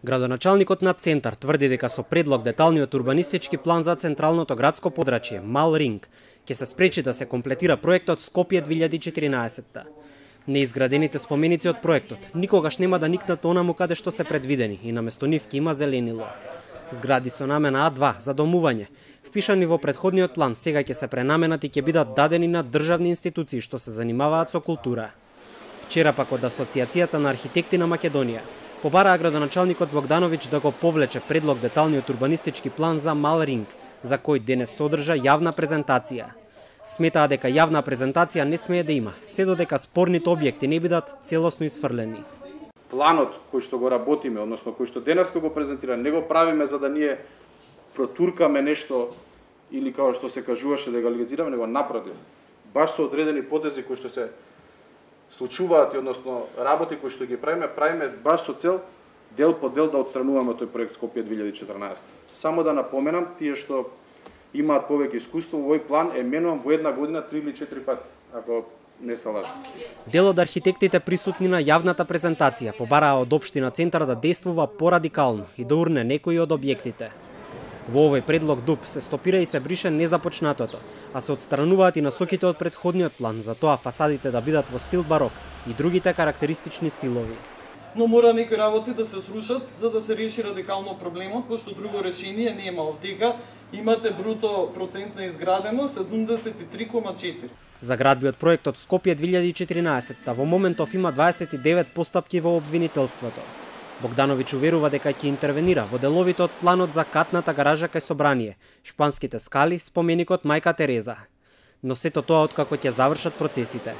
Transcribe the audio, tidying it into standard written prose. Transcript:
Градоначалникот на Центар тврди дека со предлог деталниот урбанистички план за централното градско подрачје Мал Ринг ќе се спречи да се комплетира проектот Скопје 2014. Неизградените споменици од проектот никогаш нема да никнат онаму каде што се предвидени и наместо нив ќе има зеленило. Згради со намена А2 за домување, впишани во претходниот план, сега ќе се пренаменат и ќе бидат дадени на државни институции што се занимаваат со култура. Вчера пак од Асоциацијата на архитекти на Македонија побараа градоначалникот Богдановиќ да го повлече предлог деталниот урбанистички план за Мал Ринг, за кој денес содржа јавна презентација. Сметаа дека јавна презентација не смее да има, се додека спорните објекти не бидат целосно исфрлени. Планот кој што го работиме, односно кој што денеска го презентира, не го правиме за да ние протуркаме нешто или како што се кажуваше да го легализираме, него напротив. Баш со одредени потези кои што се случуваат и односно работи кои што ги правиме баш со цел дел по дел да отстрануваме тој проект Скопје 2014. Само да напоменам, тие што имаат повеќе искуство, овој план е менуван во една година 3 или 4 пати, ако не се лажам. Дел од архитектите присутни на јавната презентација побараа од општина Центар да действува порадикално и да урне некои од објектите. Во овој предлог ДУП се стопира и се брише незапочнатото, а се отстрануваат и насоките од претходниот план, за тоа фасадите да бидат во стил барок и другите карактеристични стилови. Но мора некои работи да се срушат за да се реши радикално проблемот, пошто друго решение нема. Овдека имате бруто процент на изграденост 73,4. За градбиот проектот Скопје 2014 во моментов има 29 постапки во обвинителството. Богдановиќ уверува дека ќе интервенира во деловите од планот за катната гаража кај собрание, Шпанските скали, споменикот Мајка Тереза. Но сето тоа откако ќе завршат процесите.